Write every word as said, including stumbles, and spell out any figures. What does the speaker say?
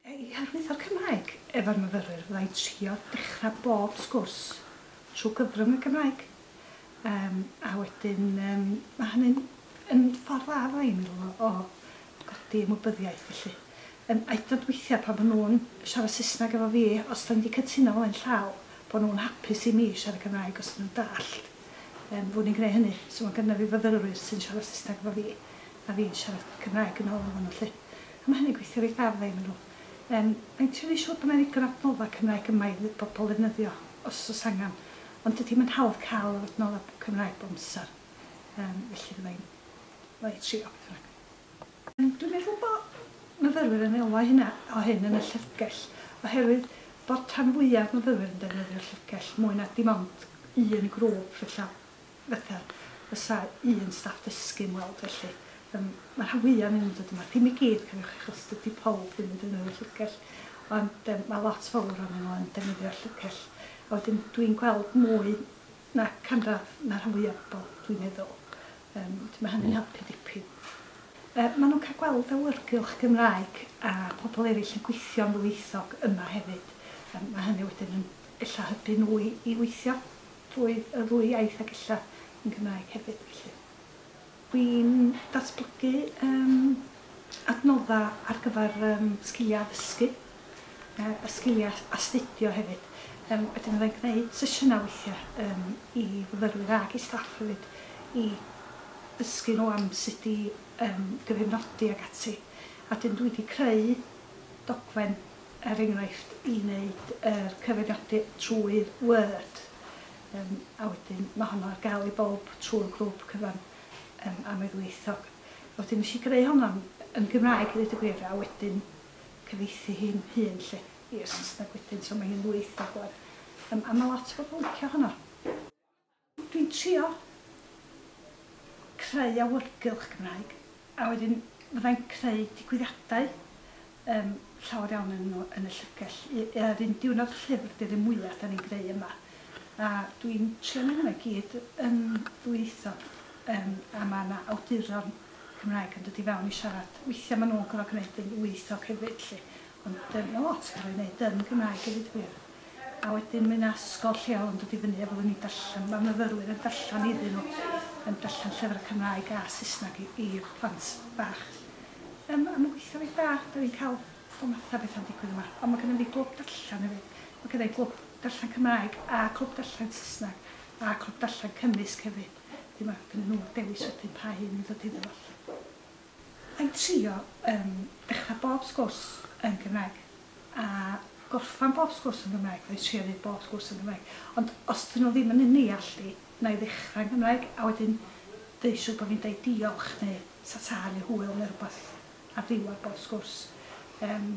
I hyrwyddo'r Cymraeg efo'r myfyrwyr, fydda i'n trio dechrau bob sgwrs trwy gyfrwng y Gymraeg. Um, a wedyn um, mae hynny'n yn ffordd dda, fydda i'n meddwl, o, o godi ymwybyddiaeth felly. Um, a hyd yn oed weithiau pan maen nhw'n siarad Saesneg efo fi, os da ni wedi cytuno ymlaen llaw, bod nhw'n hapus i mi siarad Cymraeg os nhw'n dallt, um, fod ni'n gwneud hynny. So mae gynna fi fyfyrwyr sy'n siarad Saesneg efo fi, a fi'n siarad Cymraeg yn ôl efo nhw 'lly. A mae hynny'n gweithio reit dda, fydda i'n meddwl. Um, mae'n trio siŵr bod yna ddigon adnoddau Cymraeg yma i bobl ddefnyddio os oes angen. Ond dydy mae'n hawdd cael yr adnoddau Cymraeg bob amser. Um, felly fydda i'n fydda i'n trio beth bynnag. Um, dwi'n meddwl bod myfyrwyr yn elwa hynna o hyn yn y llyfrgell, oherwydd bod rhan fwyaf myfyrwyr yn defnyddio'r llyfrgell mwy na dim ond un grŵp felly, fatha fysa un staff dysgu'n weld felly. Um, mae rhan fwyaf yn dod yma, dim i gyd, cofiwch, achos dydy pawb ddim yn defnyddio'r llyfrgell, ond um, mae lot fawr ohonyn nhw yn defnyddio'r llyfrgell. A wedyn dwi'n gweld mwy na canradd na rhan fwyaf o bobl, dwi'n meddwl. Um, wedyn mae hynny'n helpu dipyn. Uh, maen nhw'n cael gweld awyrgylch Gymraeg a pobl eraill yn gweithio'n ddwyieithog yma hefyd. Um, mae hynny wedyn yn ella hybu nhw i, i weithio drwy y ddwy iaith ac ella yn Gymraeg hefyd. Felly. Dwi'n datblygu um, adnoddau ar gyfer um, sgiliau addysgu uh, a sgiliau astudio hefyd. Um, wedyn fyddai'n gwneud sesiynau weithiau um, i fyfyrwyr ac i staff hefyd i ddysgu nhw am sut i um, gyfeirnodi ac ati. A wedyn dwi wedi creu dogfen, er enghraifft, i wneud yr uh, cyfeirnodi trwy'r Word. Um, a wedyn mae honno ar gael i bob trwy'r grŵp cyfan um, am ei ddwyieithog. Wedyn nes i greu honno yn Gymraeg i ddweud y gwir, a wedyn cyfieithu hi'n hun lle i'r Saesneg wedyn, so mae hi'n ddwyieithog wan. Um, a mae lot o bobl licio honno. Dwi'n trio creu awyrgylch Gymraeg, a wedyn fyddai'n creu digwyddiadau um, llawer iawn yn, yn y llyfrgell. Yr un diwrnod llyfr di'r un mwyaf da ni'n greu yma. A dwi'n trio neud hwnna i gyd yn ddwyieithog. Um, a mae yna awduron Cymraeg yn dod i fewn i siarad. Weithiau maen nhw'n gorfod gwneud yn ddwyieithog hefyd, lle. Ond um, mae lot yn cael ei wneud yn Gymraeg hefyd gwir. A wedyn mae yna ysgol lleol yn dod i fyny a fyddwn ni'n darllen, mae myfyrwyr yn darllen iddyn nhw, yn darllen llyfrau Cymraeg a Saesneg i'r plant bach. Um, a mae'n gweithio reit dda, da ni'n cael o math o bethau'n digwydd yma. Ond mae gennym ni glwb darllen hefyd. Mae gennym ni glwb darllen Cymraeg a clwb darllen Saesneg a clwb darllen cymysg hefyd. Wedyn mae gennym nhw'r dewis wedyn pa un i ddod iddo fo. Mae'n trio um, dechrau bob sgwrs yn Gymraeg a gorffan bob sgwrs yn Gymraeg, mae'n trio neud bob sgwrs yn Gymraeg. Ond os dyn nhw ddim yn yn neall i, na i ddechrau yn Gymraeg a wedyn deud siŵr bod fi'n deud diolch neu ta-ta neu hwyl neu rhywbeth ar ddiwedd bob sgwrs. Um,